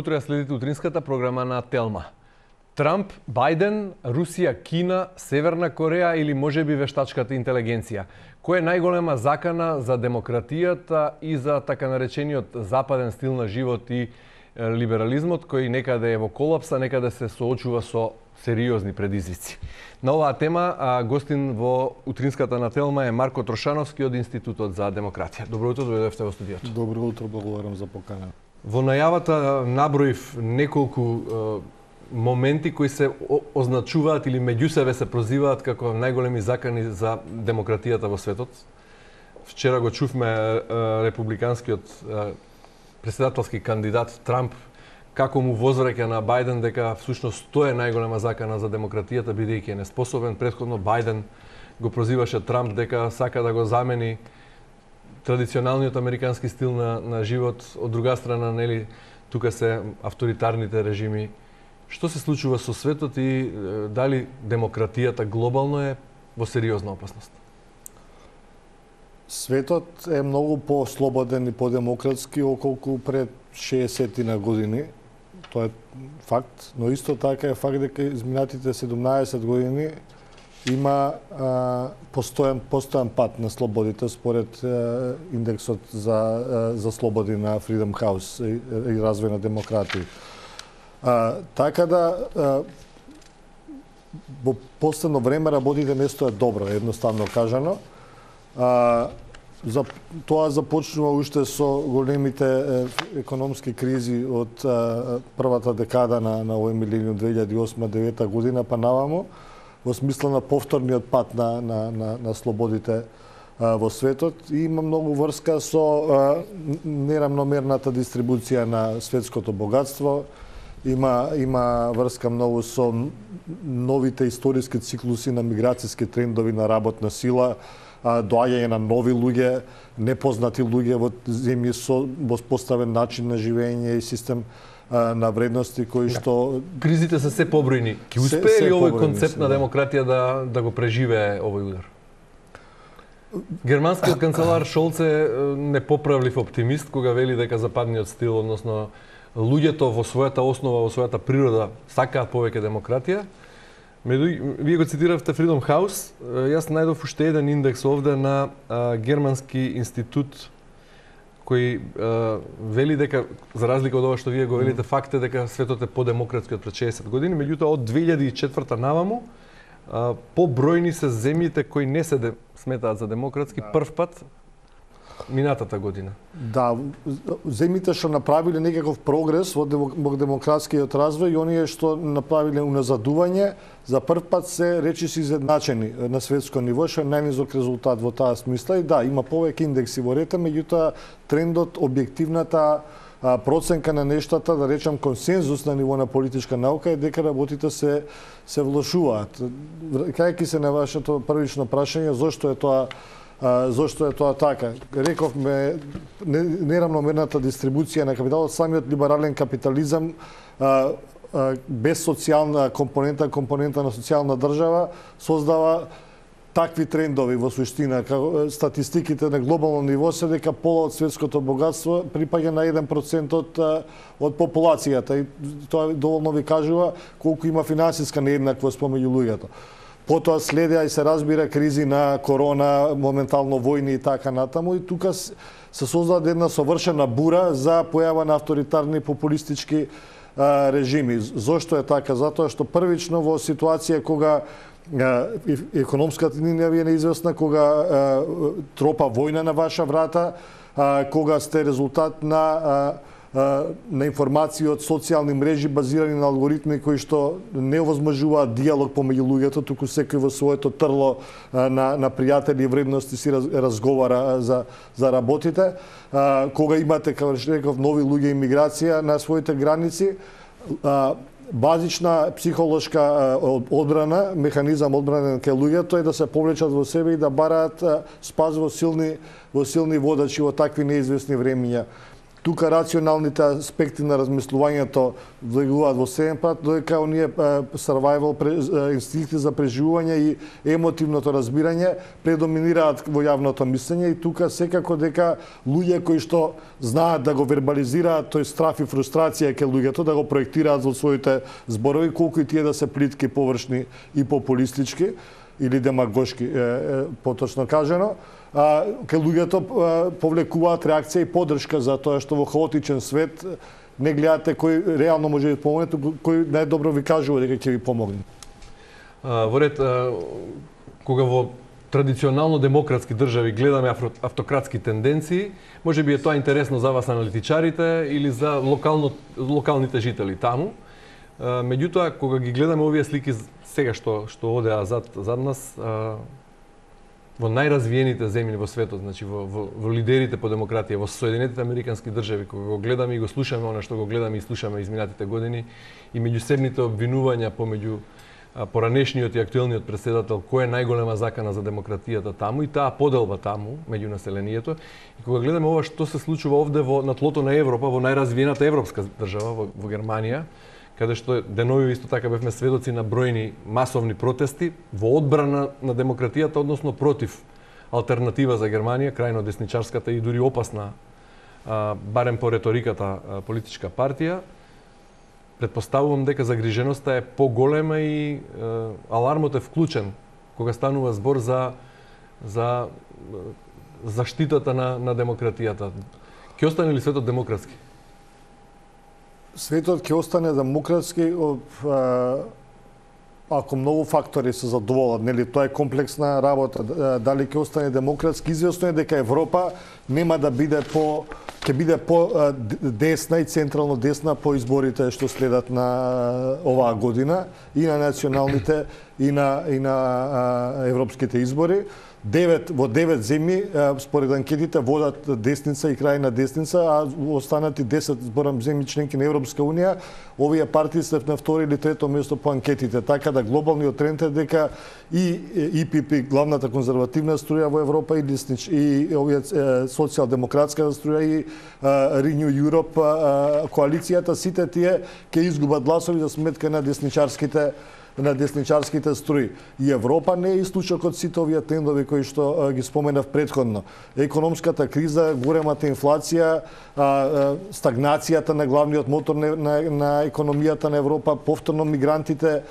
утро, ја следите утринската програма на Телма. Трамп, Бајден, Русија, Кина, Северна Кореја или можеби вештачката интелигенција? Кој е најголема закана за демократијата и за така наречениот западен стил на живот и либерализмот, кој некаде е во колапса, некаде се соочува со сериозни предизвици? На оваа тема гостин во утринската на Телма е Марко Трошановски од Институтот за демократија. Добро утро, дојдовте во студиото. Добро утро, благодарам за покана. Во најавата наброив неколку моменти кои се означуваат или меѓу себе се прозиваат како најголеми закани за демократијата во светот. Вчера го чувме републиканскиот претседателски кандидат Трамп како му возвраќа на Бајден дека всушност тоа е најголема закана за демократијата, бидејќи е неспособен. Претходно Бајден го прозиваше Трамп дека сака да го замени традиционалниот американски стил на живот. Од друга страна, нели, тука се авторитарните режими. Што се случува со светот и дали демократијата глобално е во сериозна опасност? Светот е многу по-слободен и по-демократски околку пред 60 години. Тоа е факт, но исто така е факт дека изминатите 17 години има постојан пат на слободите според индексот за слободи на Freedom House и развој на демократија. Така да во последно време работите не стојат добро, едноставно кажано. Тоа започнува уште со големите економски кризи од првата декада на овој милениум 2008-2009 година па наваму, во смисла на повторниот пат на слободите во светот, и има многу врска со неравномерната дистрибуција на светското богатство. Има врска многу со новите историски циклуси на миграцијски трендови на работна сила, доаѓање на нови луѓе, непознати луѓе во земји со воспоставен начин на живење и систем на вредности кои што... Кризите се се побројни. Ке успее ли овој концепт на демократија да го преживее овој удар? Германскиот канцелар Шолц е непоправлив оптимист кога вели дека западниот стил, односно луѓето во својата основа, во својата природа сакаат повеќе демократија. Вие го цитиравте Freedom House. Јас најдов уште еден индекс овде на германски институт кој вели дека, за разлика од ова што вие го велите, факт е дека светот е подемократски од пред 60 години, меѓутоа од 2004 наваму побројни се земјите кои не се сметаат за демократски прв пат минатата година. Да, земјите што направиле некаков прогрес во демократскиот развој и оние што направиле уназадување, за прв пат се речиси изедначени на светско ниво, што е најнизок резултат во таа смисла. И да, има повеќе индекси во рета, меѓутоа трендот, објективната проценка на нештата, да речам консензус на ниво на политичка наука, е дека работите се влошуваат. Кајќи се на вашето првично прашање, зошто е тоа така? Рековме, неравномерната дистрибуција на капиталот, самиот либерален капитализам без социјална компонента на социјална држава од такви трендови во суштина. Статистиките на глобално ниво се дека пола од светското богатство припаѓа на 1% од популацијата, и тоа доволно ви кажува колку има финансиска нееднаквост помеѓу луѓето. Потоа следеа и се разбира кризи на корона, моментално војни и така натаму, и тука се создаде една совршена бура за појава на авторитарни популистички режими. Зошто е така? Затоа што првично во ситуација кога економската линија ви е неизвестна, кога тропа војна на ваша врата, кога сте резултат на информации од социјални мрежи базирани на алгоритми кои што не овозможуваат диалог помеѓу луѓето, туку секој во своето трло на пријатели и вредности си разговара за работите. Кога имате, како реков, нови луѓе и миграција на своите граници, базична психолошка одбрана, механизам одбрана кај луѓето е да се повлечат во себе и да бараат спас во силни водачи во такви неизвестни времиња. тука рационалните аспекти на размислувањето влегуваат во седен пат, додека оние survival инстинкти за преживување и емотивното разбирање предоминираат во јавното мислење и тука секако дека луѓе кои што знаат да го вербализираат тој страф и фрустрација кај луѓето, да го проектираат во своите зборови, колку и тие да се плитки, површни и популистички или демагошки, поточно кажано, кај луѓето повлекуваат реакција и поддршка за тоа што во хаотичен свет не гледате кој реално може да ви помогне, кој најдобро ви кажува дека ќе ви помогне. Во ред, кога во традиционално демократски држави гледаме автократски тенденции, може би е тоа интересно за вас аналитичарите или за локалните жители таму. Меѓутоа, кога ги гледаме овие слики сега што одеа зад нас, во најразвиените земји во светот, значи во лидерите по демократија, во Соединетите Американски држави, кога го гледаме и го слушаме она што го гледаме и слушаме изминатите години, и меѓусебните обвинувања помеѓу поранешниот и актуелниот претседател кој е најголема закана за демократијата таму и таа поделба таму меѓу населението, и кога гледаме ова што се случува овде на тлото на Европа, во најразвиената европска држава, во Германија, каде што денови исто така бевме сведоци на бројни масовни протести во одбрана на демократијата, односно против алтернатива за Германија, крајно десничарската и дури опасна, барем по реториката, политичка партија. Предпоставувам дека загриженоста е поголема и алармот е вклучен кога станува збор за заштитата на демократијата. Ќе остане ли светот демократски? Светот ќе остане демократски ако многу фактори се задоволат, нели, тоа е комплексна работа. Дали ќе остане демократски, извесно е дека Европа нема да биде ќе биде по десна и централно десна по изборите што следат на оваа година и на националните и на европските избори. Во 9 земји, според анкетите, водат десница и крајна десница, а останати 10 зборам земји членки на Европска унија, овие партии се на второ или трето место по анкетите. Така да глобалниот тренд е дека и ИПП, главната конзервативна струја во Европа, и овие социјалдемократска струја и Renew Europe, коалицијата, сите тие ќе изгубат гласови за сметка на десничарските струи. И Европа не е исклучок од сите овие трендови кои што ги споменав претходно. Економската криза, големата инфлација, стагнацијата на главниот мотор на економијата на Европа, повторно мигрантите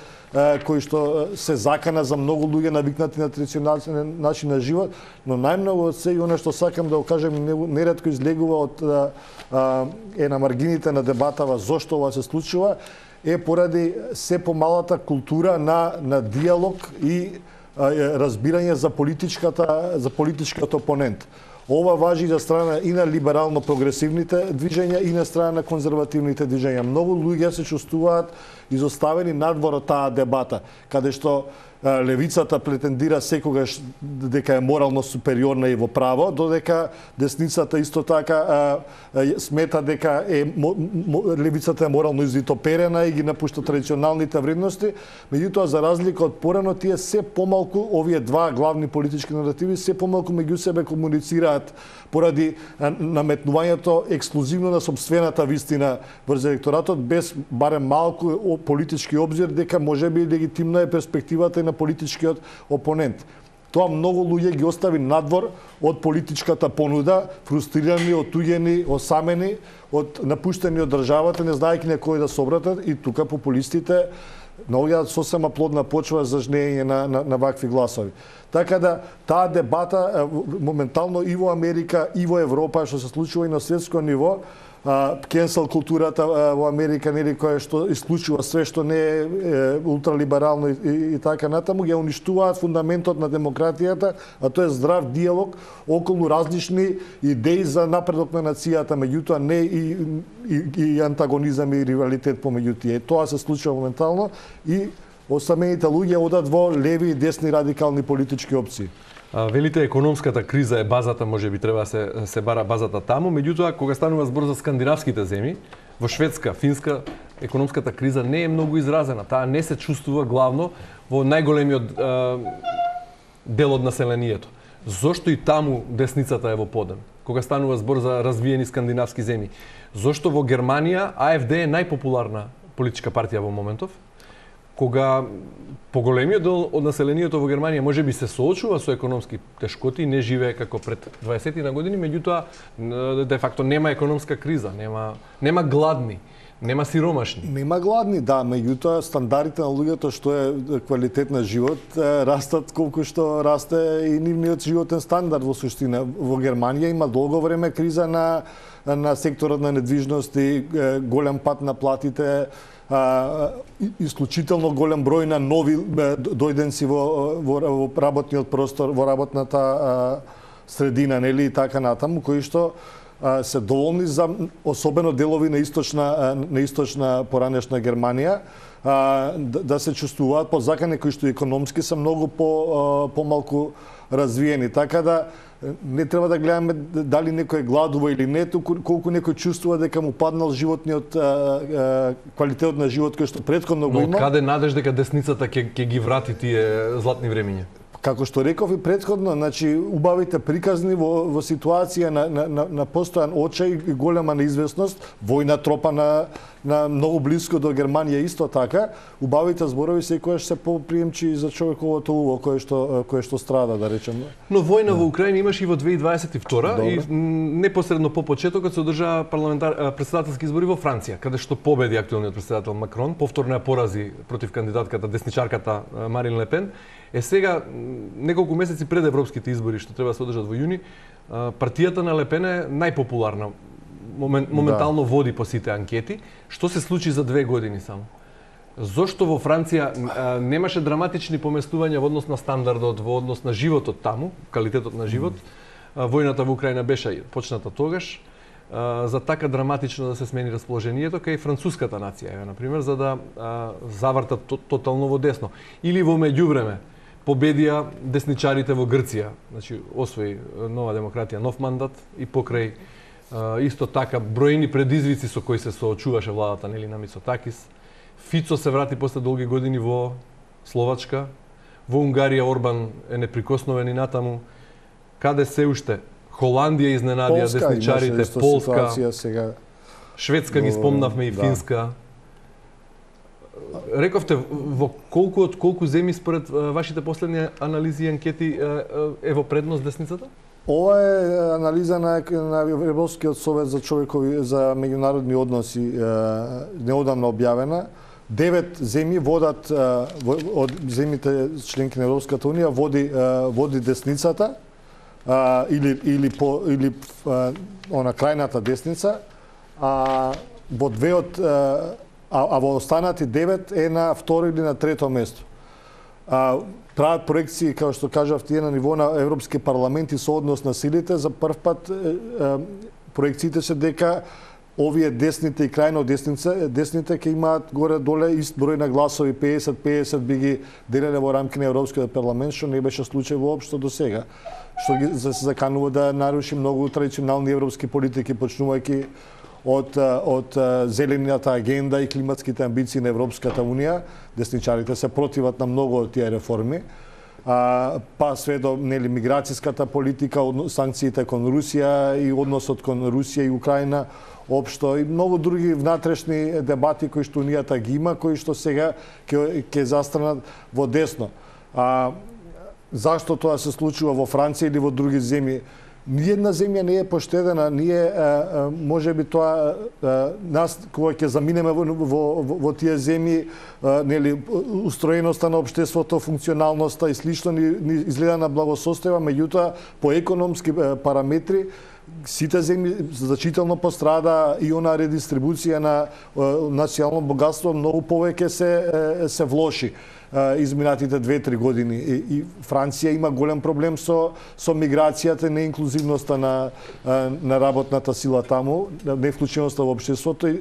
кои што се закана за многу луѓе навикнати на традиционален начин на живот, но најмногу од се и она што сакам да го кажем неретко излегува од на маргините на дебатава зошто ова се случува, е поради се помалата култура на диалог и разбирање за политичкиот опонент. Ова важи за страна и на либерално-прогресивните движења и на страна на конзервативните движења. Многу луѓе се чувствуваат изоставени надвор од таа дебата, каде што левицата претендира секогаш дека е морално супериорна и во право, додека десницата исто така смета дека левицата е морално извитоперена и ги напушта традиционалните вредности. Меѓутоа, за разлика од порано, тие се помалку, овие два главни политички наративи, се помалку меѓу себе комуницираат поради наметнувањето ексклузивно на сопствената вистина врз електоратот, без барем малку политички обзир дека можеби легитимна е перспективата и на политичкиот опонент. Тоа многу луѓе ги остави надвор од политичката понуда, фрустрирани, отуѓени, осамени, напуштени од државата, не знаејќи на кој да се обратат, и тука популистите наоѓаат сосема плодна почва за жнење на вакви гласови. Така да, таа дебата моментално и во Америка, и во Европа, што се случува и на светско ниво, кенсел културата во Америка, нели, која што исклучува све што не е ултралиберално и така натаму, ја уништуваат фундаментот на демократијата, а тоа е здрав диалог околу различни идеи за напредок на нацијата, меѓутоа не и антагонизам и ривалитет помеѓу тие. Тоа се случува моментално и осамените луѓе одат во леви и десни радикални политички опции. Велите економската криза е базата, може би треба се бара базата таму, меѓутоа кога станува збор за скандинавските земји, во Шведска, Финска, економската криза не е многу изразена. Таа не се чувствува главно во најголемиот дел од населението. Зошто и таму десницата е во подем? кога станува збор за развиени скандинавски земји. Зошто во Германија АФД е најпопуларна политичка партија во моментов, кога поголемиот дел од населението во Германија можеби се соочува со економски тешкоти и не живее како пред 20 на години, меѓутоа де факто нема економска криза, нема гладни, нема сиромашни. Нема гладни, да, меѓутоа стандардите на луѓето што е квалитет на живот растат колку што расте и нивниот животен стандард во суштина. Во Германија има долго време криза на секторот на недвижности, голем пат на платите, исклучително голем број на нови дојденци во работниот простор, во работната средина, нели, и така натаму, кои што се доволни за особено делови на источна поранешна Германија да се чувствуваат подзакани кои што економски се многу помалку развиени. Така да не треба да гледаме дали некој гладува или не, колку некој чувствува дека му паднал животниот квалитетот на живот кој што претходно го има. Но каде надеж дека десницата ќе ги врати тие златни времиња? Како што реков и претходно, значи убавите приказни во ситуација на постојан очај и голема неизвестност, војна тропа на многу блиско до Германија исто така, убавите зборови секогаш се поприемчи за човековото уво кое што страда, да речеме. Но војна во Украина имаше и во 2022 и непосредно по почетокот се одржаа претседателски избори во Франција, каде што победи актуелниот претседател Макрон, повторно ја порази против кандидатката десничарката Марин Ле Пен. Сега, неколку месеци пред европските избори, што треба да се одржат во јуни, партијата на Ле Пен е најпопуларна. Моментално води по сите анкети. Што се случи за 2 години само? Зошто во Франција немаше драматични поместувања во однос на стандардот, во однос на животот таму, квалитетот на живот? Војната во Украина беше почната тогаш. За така драматично да се смени расположението кај француската нација, например, за да завртат тотално во десно. Или во меѓувреме победија десничарите во Грција, значи освои нова демократија, нов мандат и покрај исто така бројни предизвици со кои се соочуваше владата нели на Мицотакис. Фицо се врати после долги години во Словачка, во Унгарија Орбан е неприкосновен и натаму. Каде се уште? Холандија изненадија десничарите, Полска, сега. Шведска ги спомнавме и Финска. Рековте, во колку земји според вашите последни анализи и анкети е во предност десницата? Ова е анализа на Европскиот совет за меѓународни односи неодамна објавена. 9 земји водат од земјите членки на Европската унија води десницата или она крајната десница, во во останати 9 е на второ или на трето место. Прават проекции, како што кажав тие, на ниво на Европски парламент и сооднос на силите. За прв пат проекциите се дека овие десните и крајно десните ќе имаат горе-доле ист број на гласови, 50-50 би ги делеле во рамки на Европскиот парламент, што не беше случај воопшто до сега. Што ги се заканува да наруши многу традиционални европски политики, почнувајќи од зелената агенда и климатските амбиции на Европската унија. Десничарите се противат на многу од тие реформи. Па све до миграцијската политика, санкциите кон Русија и односот кон Русија и Украина општо и многу други внатрешни дебати кои што унијата ги има, кои што сега ќе застранат во десно. Зашто тоа се случува во Франција или во други земји? Ниједна земја не е поштедена, ние можеби тоа нас кога ќе заминеме во тие земји, нели устроеноста на општеството, функционалноста и слично ни изгледа на благосостојава, меѓутоа по економски параметри сите земји значително пострада и она редистрибуција на национално богатство многу повеќе се влоши изминатите 2-3 години. И Франција има голем проблем со миграцијата, неинклузивноста на работната сила таму, невклученоста во општеството и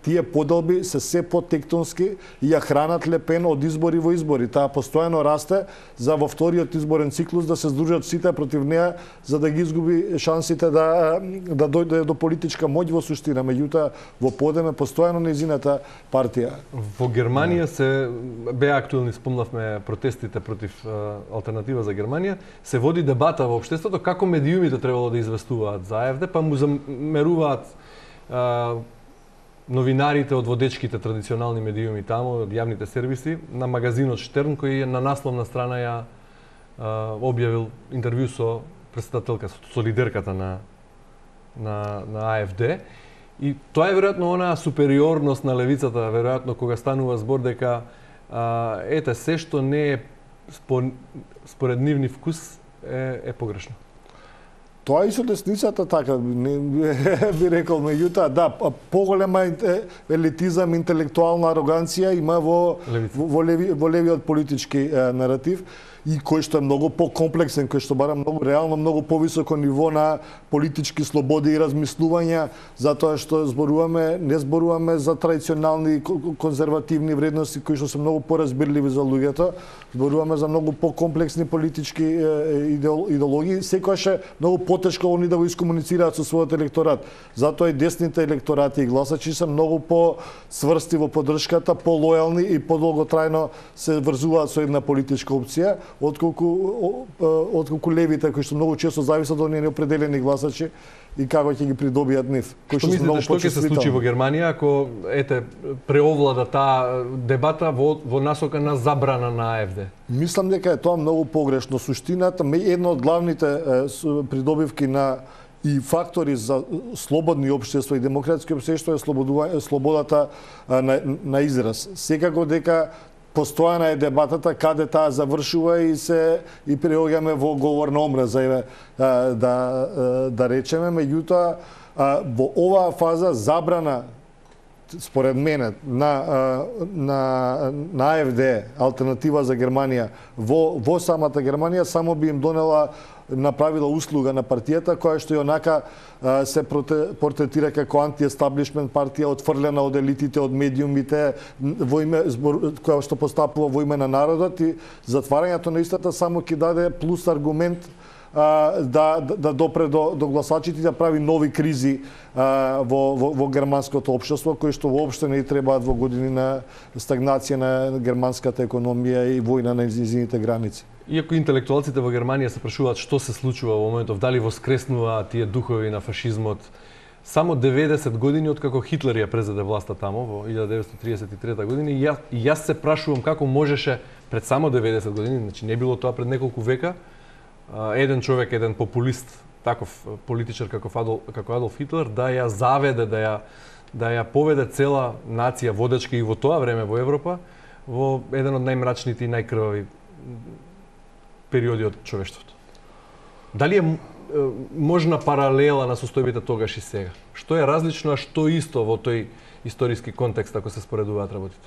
тие поделби се потектонски и ја хранат Ле Пен од избори во избори. Таа постојано расте за во вториот изборен циклус да се здружат сите против неа за да ги изгуби шансите да дојде до политичка моќ во суштина, меѓутоа во подеме постојано нејзината партија. Во Германија се беа најактуелни спомнавме протестите против алтернатива за Германија, се води дебата во општеството како медиумите требало да известуваат за АФД, па му замеруваат новинарите од водечките традиционални медиуми таму, од јавните сервиси, на магазинот Штерн, кој на насловна страна ја објавил интервју со претседателка, со лидерката на АФД. И тоа е веројатно онаа супериорност на левицата, веројатно кога станува збор дека ете се што не е според нивни вкус е погрешно. Тоа и со десницата така би рекол, меѓутоа да, поголема елитизам, интелектуална ароганција има во левиот политички наратив, и кој што е многу покомплексен, кој што бара многу реално многу повисоко ниво на политички слободи и размислувања, затоа што не зборуваме за традиционални конзервативни вредности кои што се многу поразбирливи за луѓето, зборуваме за многу покомплексни политички идеологии, секогаш е многу потешко они да го искомуницираат со својот електорат. Затоа и десните електорати и гласачи се многу по-сврсти во поддршката, по-лојални и подолготрајно се врзуваат со една политичка опција, отколку левите кои што многу често зависат од неопределени гласачи и како ќе ги придобијат нив. Што мислите, што ќе се случи во Германија ако преовлада таа дебата во насока на забрана на АФД? Мислам дека е тоа многу погрешно. Суштината, една од главните придобивки на и фактори за слободни општества и демократски општества е слободата на израз. Секако дека постојана е дебатата каде таа завршува и преоѓаме во говор на омраза, да речеме, меѓутоа во оваа фаза забрана според мене на АФД, алтернатива за Германија во самата Германија само би им направила услуга на партијата која што и онака се портретира како антиестаблишмент партија, отфрлена од елитите, од медиумите, која што постапува во име на народот, и затварањето на истата само ќе даде плюс аргумент да допре до гласачите и да прави нови кризи во германското општество, кои што воопшто не требаат во години на стагнација на германската економија и војна на низините граници. Иако интелектуалците во Германија се прашуваат што се случува во моментов, дали воскреснуваат тие духови на фашизмот, само 90 години откако Хитлер ја презеде власта таму во 1933 година, и јас се прашувам како можеше пред само 90 години, значи не било тоа пред неколку века, еден човек, еден популист, таков политичар како Адолф Хитлер, да ја заведе, да ја поведе цела нација водечка и во тоа време во Европа во еден од најмрачните и најкрвави периоди од човештвото. Дали е можна паралела на состојбите тогаш и сега? Што е различно, а што исто во тој историски контекст ако се споредуваат работите?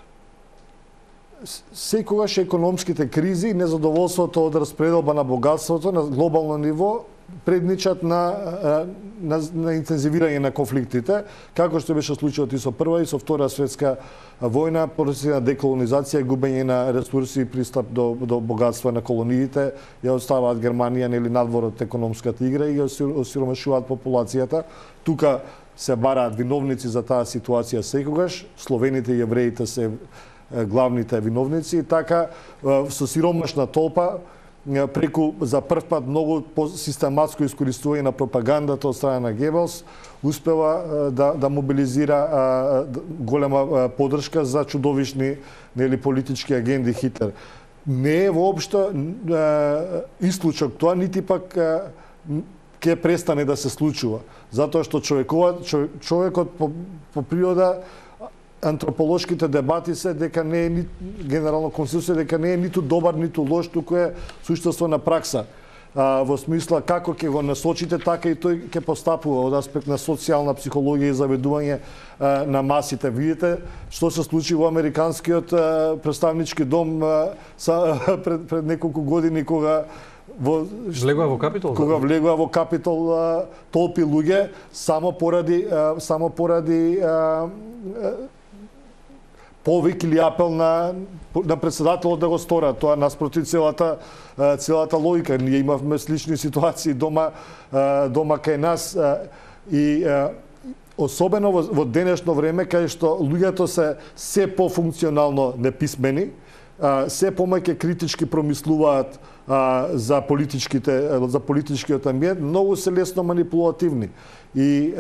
Секогаш економските кризи и незадоволството од распределба на богатството на глобално ниво предничат на интензивирање на конфликтите, како што беше случајот и со Прва и со Втора светска војна, процеси на деколонизација, губење на ресурси и пристап до богатство на колониите, ја оставаат Германија надвор од економската игра и ја осиромашуваат популацијата. Тука се бараат виновници за таа ситуација секогаш, словените и евреите се главните виновници, и така со сиромашна толпа преку за прв пат многу систематско искористување на пропагандата од страна на Гебелс успева да мобилизира голема поддршка за чудовишни политички агенди Хитлер. Не е воопшто исклучок тоа, нити пак ќе престане да се случува, затоа што човекот по природа, антрополошките дебати се дека не е генерално консенсус дека не е ниту добар ниту лош, туку е суштество на пракса. Во смисла како ќе го насочите, така и тој ќе постапува од аспект на социјална психологија и заведување на масите. Видите што се случи во американскиот представнички дом пред неколку години кога влегува во Капитол? Кога влегува во Капитол толпи луѓе само поради повик или апел на председателот да го сторат. Тоа наспроти целата логика. Ние имавме слични ситуации дома кај нас и особено во денешно време кај што луѓето се се пофункционално неписмени, се помаќе критички промислуваат за политичкиот амбиент, многу се лесно манипулативни. И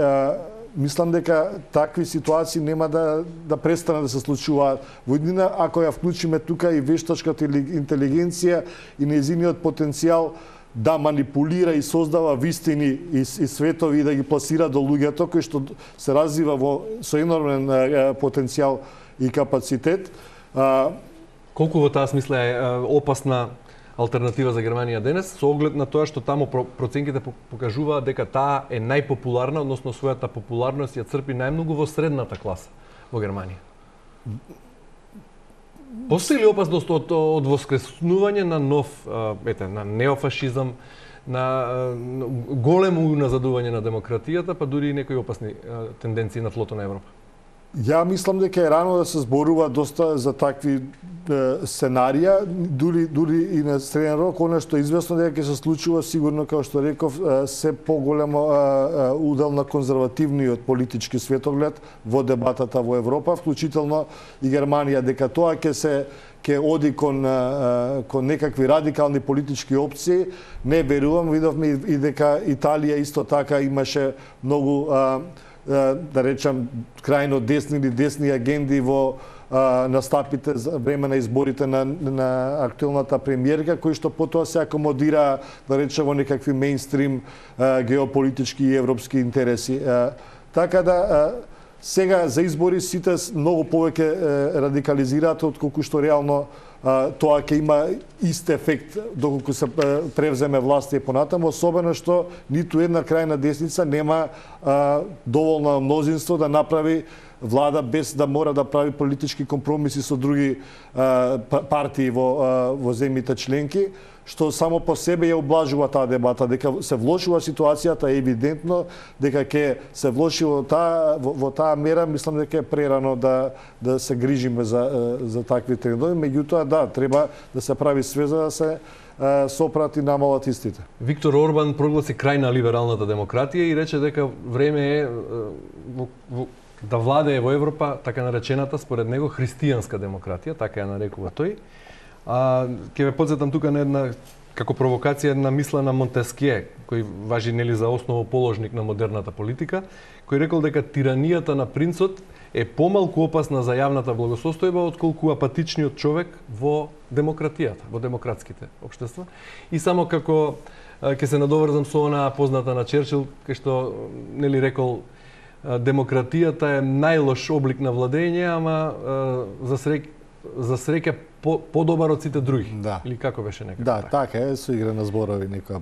мислам дека такви ситуации нема да престанат да се случуваат во иднина ако ја вклучиме тука и вештачката интелигенција и нејзиниот потенцијал да манипулира и создава вистини и светови и да ги пласира до луѓето кои што се развива со енормен потенцијал и капацитет. Колку во таа смисла е опасна алтернатива за Германија денес, со оглед на тоа што таму проценките покажуваат дека таа е најпопуларна, односно својата популарност ја црпи најмногу во средната класа во Германија? Постои ли опасност од воскреснување на нов, на неофашизам, на големо уназадување на демократијата, па дури и некои опасни тенденции на тлото на Европа? Ја мислам дека е рано да се зборува доста за такви сценарија, дури и на среден рок, она што е известно дека ќе се случува сигурно, како што реков, се поголемо удел на конзервативниот политички светоглед во дебатата во Европа, вклучително и Германија, дека тоа ќе оди кон некакви радикални политички опции. Не верувам, видовме и дека Италија исто така имаше многу да речам крајно десни или десни агенди во настапите за време на изборите на актуелната премиерка, кои што потоа се акомодира, да речем, во некакви мејнстрим геополитички и европски интереси. Така да сега за избори сите многу повеќе радикализираат отколку што реално тоа ќе има ист ефект доколку се превземе власт и понатаму, особено што ниту една крајна десница нема доволно мнозинство да направи влада без да мора да прави политички компромиси со други партии во земјите членки, што само по себе ја облажува таа дебата. Дека се влошува ситуацијата е евидентно, дека ќе се влоши во таа мера, мислам дека е прерано да се грижиме за такви трендови, меѓутоа да, треба да се прави све за да се сопрат и намалат истите. Виктор Орбан прогласи крај на либералната демократија и рече дека време е да владее во Европа така наречената според него христијанска демократија, така ја нарекува тој. Ќе ве подсетам тука на една како провокација една мисла на Монтескје, кој важи нели за основоположник на модерната политика, кој рекол дека тиранијата на принцот е помалку опасна за јавната благосостојба отколку апатичниот човек во демократијата, во демократските општества. И само како ќе се надоврзам со онаа позната на Черчил, кај што нели рекол демократијата е најлош облик на владење, ама за среќа подобар од сите други. Да. Или како беше некако? Да, така е, со игра на зборови некоја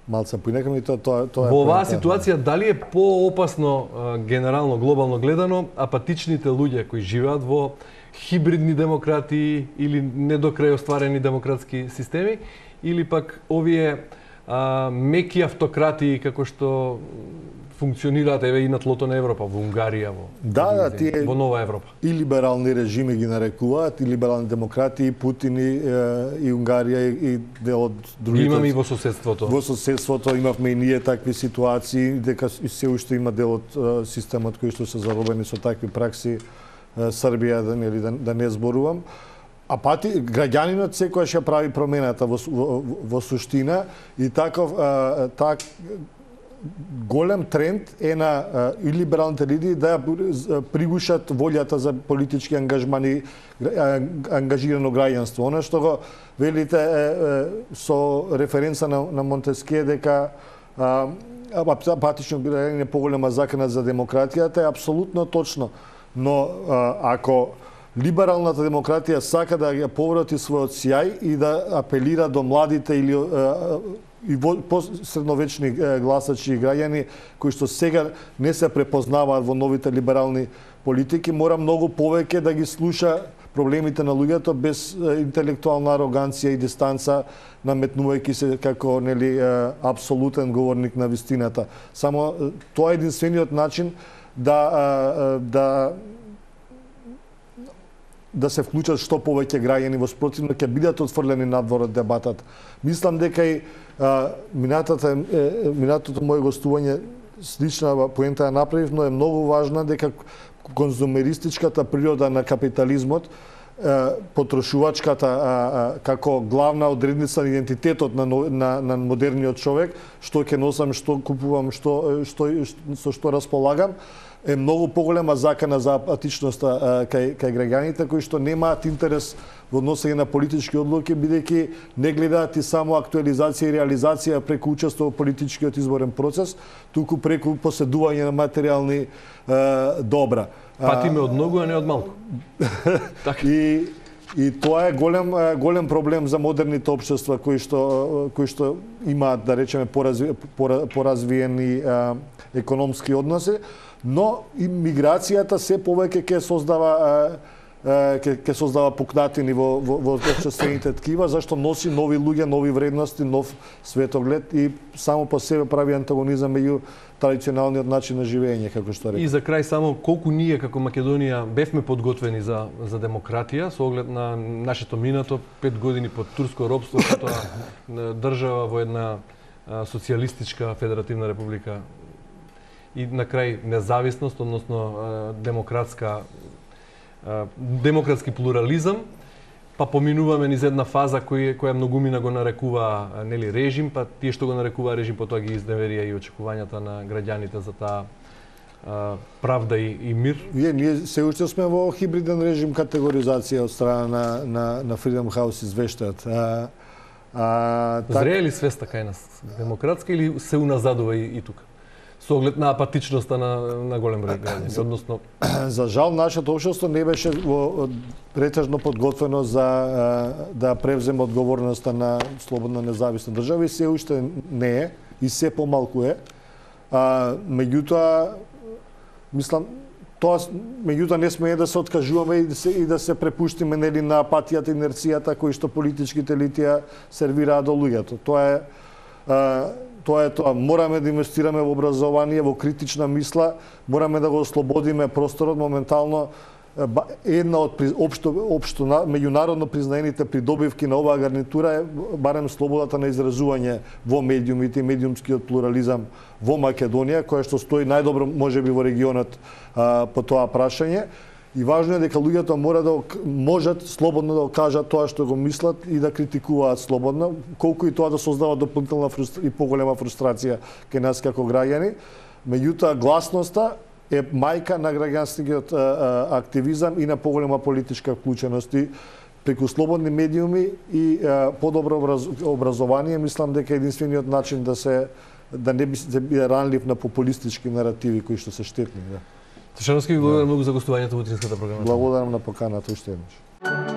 малце поинакам и тоа е. Во оваа ситуација дали е поопасно генерално глобално гледано апатичните луѓе кои живеат во хибридни демократии или недокрај остварени демократски системи или пак овие меки автократии како што функционираат еве и на тлото на Европа, во Унгарија, во Нова Европа. И либерални режими ги нарекуваат, и либерални демократии, Путин и Унгарија и дел од другите. Имаме и во соседството. Во соседството имавме и ние такви ситуации, дека се уште има дел од системот кои што се заробени со такви пракси, Србија, да не зборувам. А граѓанинот секојаш ја прави промената во суштина и таков голем тренд е на и либералните лидери да пригушат волјата за политички ангажмани, ангажирано граѓанство. Она што го велите со референца на Монтескје дека апатично граѓање е поголема закана за демократијата е апсолутно точно. Но ако либералната демократија сака да ја поврати својот сјај и да апелира до младите или и средновечни гласачи и граѓани кои што сега не се препознаваат во новите либерални политики, мора многу повеќе да ги слуша проблемите на луѓето без интелектуална ароганција и дистанца, наметнувајќи се како нели апсолутен говорник на вистината. Само тоа е единствениот начин да се вклучат што повеќе граѓани, во спротивно ќе бидат отфрлени надвор од дебатата. Мислам дека и минатото моје гостување слична поента ја направив, но е многу важна дека конзумеристичката природа на капитализмот потрошувачката како главна одредница на идентитетот на модерниот човек, што ќе носам, што купувам, со што располагам, е многу поголема закана за апатичноста кај граѓаните кои што немаат интерес во односење на политички одлуки, бидејќи не гледаат и само актуализација и реализација преку учество во политичкиот изборен процес, туку преку поседување на материјални добра. Патиме од многу, а не од малку. И тоа е голем проблем за модерните општества кои што имаат, да речеме, поразвиени економски односи, но и миграцијата се повеќе ќе создава пукнатини во општествените ткива, зашто носи нови луѓе, нови вредности, нов светоглед и само по себе прави антагонизам меѓу традиционалниот начин на живење, како што реков. И за крај само колку ние како Македонија бевме подготвени за демократија со оглед на нашето минато 5 години под турско робство, като држава во една социјалистичка федеративна република и на крај независност, односно демократски плурализам, па поминуваме низ една фаза која многумина го нарекува режим, па тие што го нарекува режим потоа ги изневерија и очекувањата на граѓаните за таа правда и мир. Ние се уште сме во хибриден режим категоризација од страна на Freedom House извештаат. Зрее ли свеста кај нас демократска или се уназадува и тука? Со оглед на апатичноста на голем број граѓани, односно за жал нашето општество не беше претежно подготвено за да превземе одговорноста на слободна независна држава и се уште не е и се помалку е. Меѓутоа мислам меѓутоа не сме да се откажуваме и да се препуштиме на апатијата и инерцијата кои што политичките елити сервираат до луѓето. Тоа е тоа. Мораме да инвестираме во образование, во критична мисла, мораме да го ослободиме просторот. Моментално една од општо меѓународно признаените придобивки на оваа гарнитура е барем слободата на изразување во медиумите и медиумскиот плурализам во Македонија, која што стои најдобро можеби во регионот по тоа прашање. И важно е дека луѓето можат слободно да кажат тоа што го мислат и да критикуваат слободно, колку и тоа да создава дополнителна и поголема фрустрација кај нас како граѓани. Меѓутоа гласноста е мајка на граѓанскиот активизам и на поголема политичка вклученост. И преку слободни медиуми и подобро образование, мислам дека единствениот начин да не биде ранлив на популистички наративи кои што се штетни. Тошановски, ви благодарам многу за гостувањето во утринската програма. Благодарам на поканата уште еднаш.